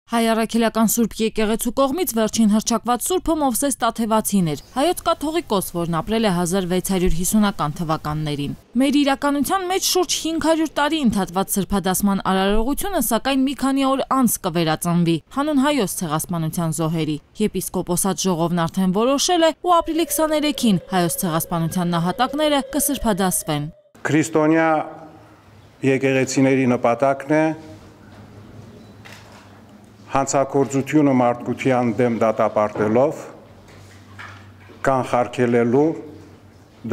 Հայ առաքելական Սուրբ եկեղեցու կողմից վերջին հռչակված Սուրբը Մովսես Տաթևացին էր, հայոց կաթողիկոս, որն ապրել է 1650-ական թվականներին։ Մեր իրականության մեջ շուրջ 500 տարի ընդհատված սրբադասման արարողությունը սակայն մի քանի օր անց կվերածնվի հանուն հայոց ցեղասպանության զոհերի։ Եպիսկոպոսատ ժողովն արդեն որոշել է ու ապրիլի 23-ին հայոց ցեղասպանության նահատակները կսրբադասվեն։ Քրիստոնյա եկեղեցիների նպատակն է հանցագործությունը մարդկության դեմ դատապարտելով կանխարգելելու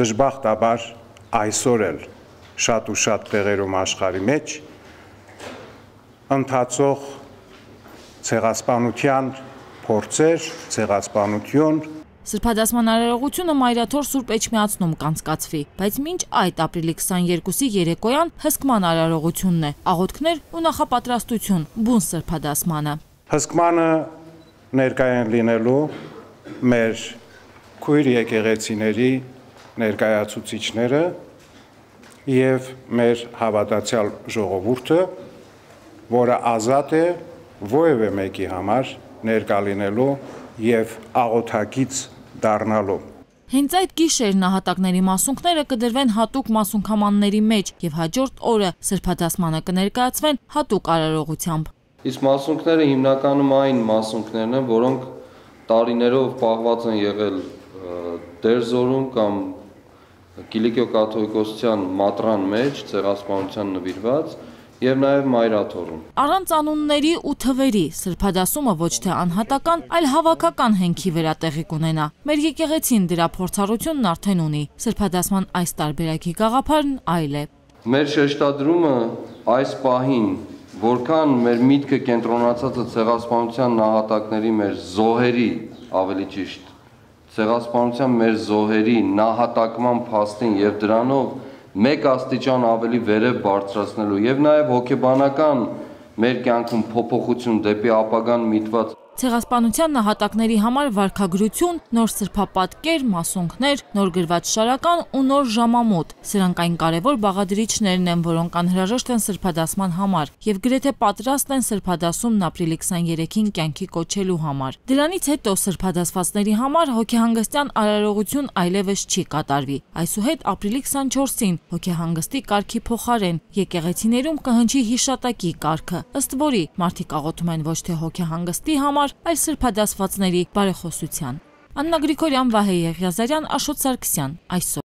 դժբախտաբար այսօր էլ շատ ու շատ տեղերում աշխարհի մեջ ընթացող ցեղասպանության փորձեր, ցեղասպանություն։ Սրբադասման արարողությունը Մայրաթոր Սուրբ Էջմիածնում կանցկացվի, բայց մինչ այդ ապրիլի 22-ի երեկոյան հսկման արարողությունն է, աղոթքներ ու նախապատրաստություն բուն սրբադասմանը։ Հսկմանը ներկայ են լինելու մեր քույր եկեղեցիների ներկայացուցիչները եւ մեր հավատացյալ ժողովուրդը, որը ազատ է որևէ մեկի համար ներկա լինելու եւ աղոթակից դառնալու։ Հենց այդ գիշեր նահատակների մասունքները կդրվեն հատուկ մասունքամանների մեջ եւ հաջորդ օրը սրբադասմանը կներկայացվեն հատուկ արարողությամբ։ Իսկ մասունքները հիմնականում այն մասունքներն են, որոնք տարիներով պահված են եղել Տերզորում կամ Կիլիկիո կաթողիկոսության մատրան մեջ, ցեղասպանության նվիրված եւ նաեւ Մայրաթորում։ Առանց անունների ու թվերի սրբադասումը ոչ թե անհատական, այլ հավաքական հենքի վրա տեղի կունենա։ Մեր եկեղեցին դրա փորձառությունն արդեն ունի։ Սրբադասման այս տարբերակի գաղափարն այլ է։ Մեր շեշտադրումը այս պահին, որքան մեր միտքը կենտրոնացած է ցեղասպանության նահատակների մեր զոհերի, ավելի ճիշտ, ցեղասպանության մեր զոհերի նահատակման փաստին եւ դրանով մեկ աստիճան ավելի վերև բարձրացնելու եւ նաեւ հոգեբանական մեր կյանքում փոփոխություն դեպի ապագան միտված Ցեղասպանության նահատակների համար վարքագրություն, նոր սրբապատկեր, մասունքներ, նոր գրված շարական ու նոր ժամամոտ։ Սրանք այն կարևոր բաղադրիչներն են, որոնք անհրաժեշտ են սրբադասման համար եւ գրեթե պատրաստ են սրբադասումն ապրիլի 23-ին կյանքի կոչելու համար։ Դրանից հետո սրբադասվածների համար հոգեհանգստյան արարողություն այլևս չի կատարվի։ Այսուհետ ապրիլի 24-ին հոգեհանգստի կարգի փոխարեն եկեղեցիներում կհնչի հիշատակի կարգը, ըստ որի մարդիկ աղոթում են ոչ թե հոգեհանգստի համար, այլ սրբադասվածների բարեխոսության։ Աննա Գրիգորյան, Վահե Եղիազարյան, Աշոտ Սարգսյան, այսօր։